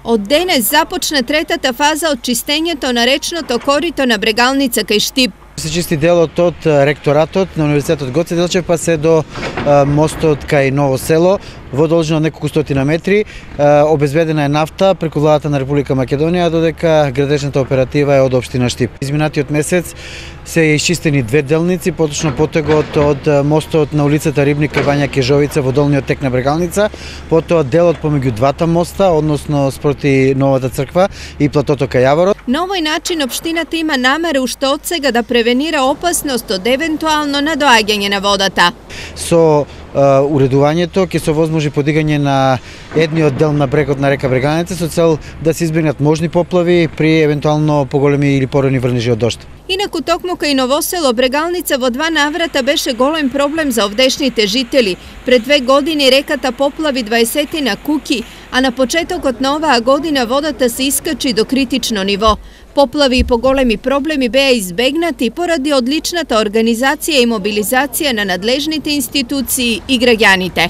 Од денес започна третата фаза од чистењето на речното корито на Брегалница кај Штип. Се чисти делот од ректоратот на Универзитетот Гоце Делчев па се до мостот кај Ново село во должина од неколку стотина метри. Обезбедена е нафта преку владата на Република Македонија, додека градежната оператива е од општина Штип. Изминатиот месец се исчистени две делници, поточно потегот од мостот на улицата Рибник кај Бања Кежовица во долниот тек на Брегалница, потоа делот помеѓу двата моста, односно спроти Новата црква и платото кај Јаворот. На овој начин општината има намера уште од сега да превенира опасност од евентуално надоаѓање на водата. Со уредувањето ќе се овозможи подигање на едниот дел на брегот на река Брегалница со цел да се избегнат можни поплави при евентуално поголеми или порани врнежи од дожд. Инаку токму кај Ново село Брегалница во два наврата беше голем проблем за овдешните жители. Пред 2 години реката поплави 20 куќи, а на почетокот на оваа година водата се искачи до критично ниво. Поплави и поголеми проблеми беа избегнати поради одличната организација и мобилизација на надлежните институции и граѓаните.